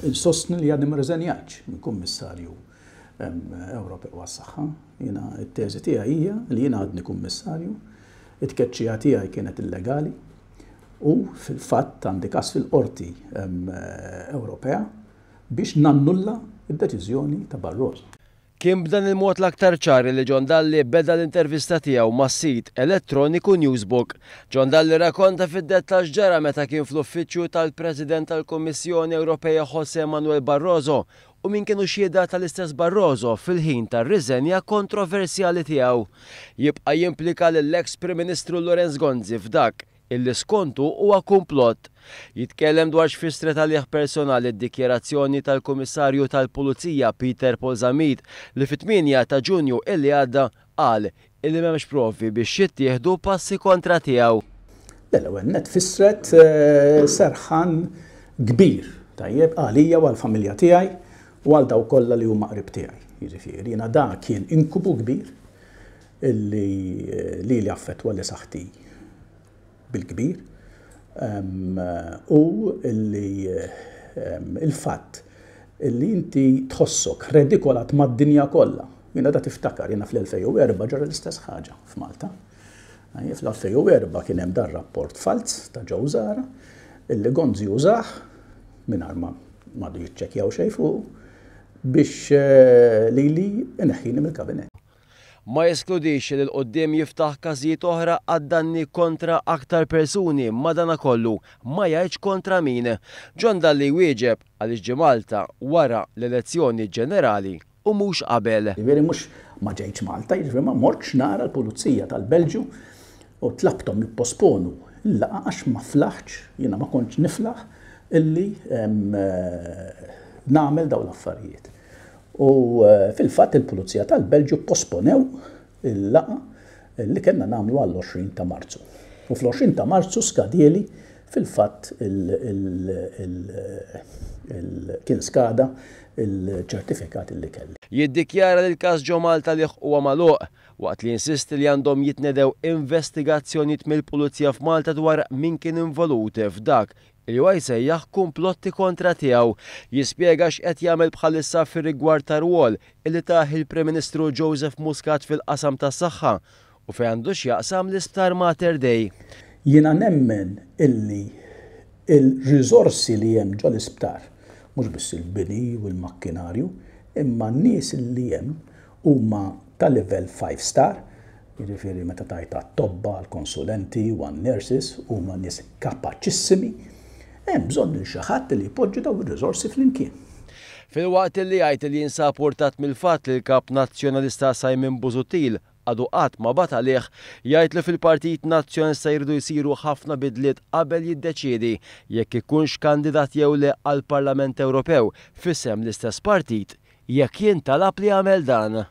Insostni li għadni ma rriżenjajtx minn Kummissarju Ewropew għas-Saħħa. Jiena t-teżi tiegħi hija li jiena għadni Kummissarju, it-tkeċċija tiegħi kienet illegali u fil-fatt għandi każ fil-Qorti Ewropea biex nannulla d-deċiżjoni ta' Barroso. Kien b'dan il-mod l-aktar ċar li John Dalli beda l-intervista tiegħu mas-sit elettroniku Newsbook. John Dalli rrakonta fid-dettall x'ġara meta kien fl-uffiċċju tal-President tal-Kummissjoni Ewropea José Manuel Barroso u min kienu xhieda tal-istess Barroso fil-ħin tar-riżenja kontroversjali tiegħu. Jibqa' jimplika lill-eks Prim Ministru Lawrence Gonzi f'dak illi skontu huwa kumplott. Jitkellem dwar x'fissret għalih personali d-dikjarazzjoni tal-Kummissarju tal-Pulizija Peter Paul Zammit li fit-8 ta' Ġunju illi għadda qal illi m'hemmx provi biex jittieħdu passi kontra tiegħu. Le, l-ewwel nett fissret serħan kbir, tajjeb, għalija u għall-familja tiegħi u għal dawk kollha li huma qrib tiegħi. Jiġifieri jiena dak kien inkubu kbir illi lili affettwali saħħti bil-kbir u illi il-fatt illi inti tħossok redikolat mad-dinja kollha. Jiena da tiftakar, jiena fl-2004 ġara l-istess ħaġa f'Malta. Fl-2004 kien hemm dar rapport falz ta' Joe Zara illi Gonzi użah mingħajr ma għadu jiċċekkjaw xejn fuq biex lili ineħħini mill-kabinett. Ma jeskludix li 'l quddiem jiftaħ każijiet oħra għad-danni kontra aktar persuni madanakollu ma jgħidx kontra min. John Dalli jwieġeb għaliex ġie Malta wara l-elezzjoni ġenerali u mhux qabel. Jiġifieri mhux ma ġejtx Malta, jiġifieri ma mortx nara l-pulizija tal-Belġju u tlabthom jipposponu l-laqgħa għax ma flaħtx, jiena ma kontx niflaħ illi nagħmel dawn l-affarijiet. U fil-fatt il-Pulizija tal-Belġju pposponew il-laqgħa li kellna nagħmlu għall-20 ta' Marzu. U fl-20 ta' Marzu skadieli fil-fatt kien skada il-ċertifikat li kelli. Jiddikjara li l-każ ġo Malta għalih huwa magħluq, waqt li jinsisti li għandhom jitnedew investigazzjonijiet mill-Pulizija f'Malta dwar min kien involut f'dak li huwa jsejjaħ kumplotti kontra tiegħu. Jispjega x'qed jagħmel bħalissa fir-rigward tar-rwol illi tah il-Prim Ministru Joseph Muscat fil-qasam tas-saħħa u fejn għandu x'jaqsam l-Isptar Mater Dei. Jiena nemmen illi l-riżorsi li hemm ġol-isptar, mhux biss il-bini u l-makkinarju, imma n-nies li hemm huma ta' livell five star, jiġifieri meta tgħid għat-tobba, għall-konsulenti u għan-nurses huma nies kapaċissimi, hemm bżonn lil xi ħadd li jpoġġi dawn ir-riżorsi flimkien. Filwaqt li jgħid li jinsab urtat mill-fatt li l-Kap Nazzjonalista Simon Busuttil għadu qatt ma bagħat għalih, jgħid li fil-Partit Nazzjonalista jridu jsiru ħafna bidliet qabel jiddeċiedi jekk ikunx kandidat jew le għall-Parlament Ewropew f'isem l-istess partit jekk jintalab li jagħmel dan.